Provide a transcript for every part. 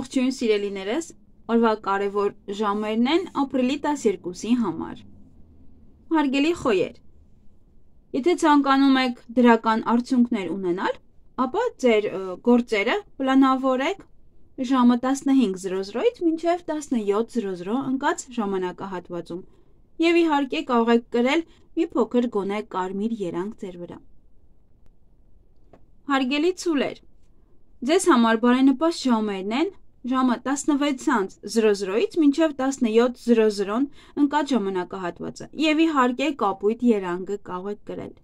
Ողջույն սիրելիներս, օրվա կարևոր ժամերն են ապրիլի 12-ի համար։ Հարգելի խոյեր, եթե ցանկանում եք դրական արդյունքներ ունենալ, ապա ձեր գործերը պլանավորեք ժամը 15:00-ից մինչև 17:00 ընկած ժամանակահատվածում և իհարկե կարող եք կրել մի փոքր գոնե կարմիր երանգ ձեր վրա։ Հարգելի ցուլեր, ձեզ համար բարենպաստ ժամերն են ժամը 16:00-ից մինչև 17:00 ընկած ժամանակահատվածը և իհարկե կապույտ երանգը կարող եք կրել։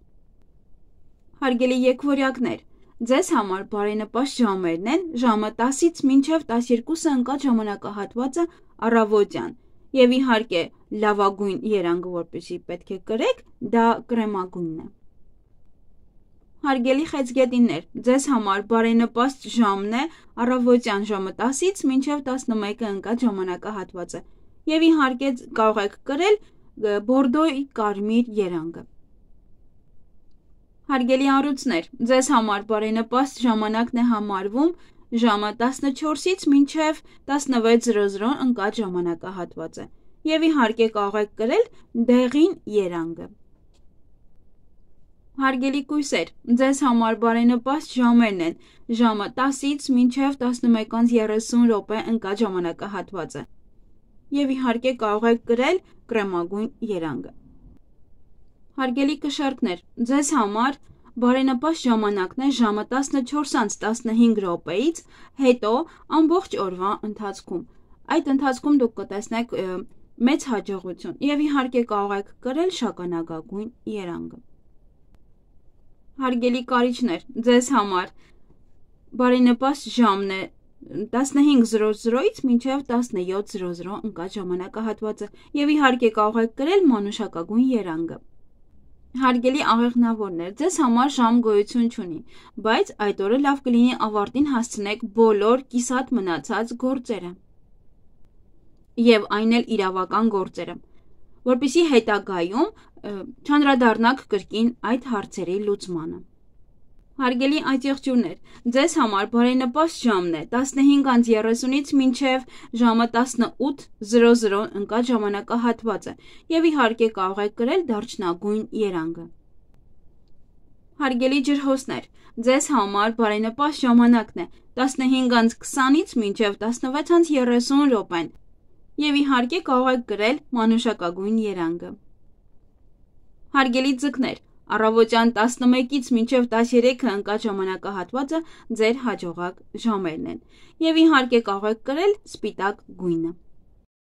Հարգելի եկվորյակներ, ձեզ համար բարենպաստ ժամերն են ժամը 10-ից մինչև 12 ընկած ժամանակահատվածը առավոտյան և իհարկե լավագույն երանգը, որպեսզի պետք է կրեք, դա կրեմագույնն է։ Հարգելի խեցգետիններ, ձեզ համար բարենպաստ ժամն է առավոտյան ժամը 10-ից մինչև 11 ընկած ժամանակահատվածը և իհարկե կարող եք կրել բորդոյի կարմիր երանգը։ Հարգելի առյուծներ, ձեզ համար բարենպաստ ժամանակն է համարվում ժամը 14-ից մինչև 16:00 ընկած ժամանակահատվածը և իհարկե կարող եք կրել դեղին երանգը։ Հարգելի կույսեր, ձեզ համար բարենպաստ ժամերն են ժամը 10-ից մինչև 11:30 ընկած ժամանակահատվածը և իհարկե կարող եք կրել կրեմագույն երանգը։ Հարգելի կշեռքներ, ձեզ համար բարենպաստ ժամանակն է ժամը 14:15-ից հետո ամբողջ օրվա ընթացքում։ Այդ ընթացքում դուք կտեսնեք մեծ հաջողություն և իհարկե կարող եք կրել շագանակագույն երանգը։ Հարգելի կարիճներ, ձեզ համար բարենպաստ ժամն է 15:00-ից մինչև 17:00 ընկած ժամանակահատվածը և իհարկե կարող եք կրել մանուշակագույն երանգը։ Հարգելի աղեղնավորներ, ձեզ համար ժամ գոյություն չունի, բայց այդ օրը լավ կլինի ավարտին հասցնեք բոլոր կիսատ մնացած գործերը և այն էլ իրավական գործերը, որպեսզի հետագայում չանդրադառնաք կրկին այդ հարցերի լուծմանը։ Հարգելի աճեղջյուրներ, ձեզ համար բարենպաստ ժամն է 15:30-ից մինչև ժամը 18:00 ընկած ժամանակահատվածը և իհարկե կարող եք կրել դարչնագույն երանգը։ Հարգելի ջրհոսներ, ձեզ համար բարենպաստ ժամանակն է 15:20-ից մինչև 16:30 րոպեն և իհարկե կարող եք կրել մանուշակագույն երանգը։ Հարգելի ձկներ, առավոտյան 11-ից մինչև 13 ընկած ժամանակահատվածը ձեր հաջողակ ժամերն են և իհարկե կարող եք կրել սպիտակ գույնը։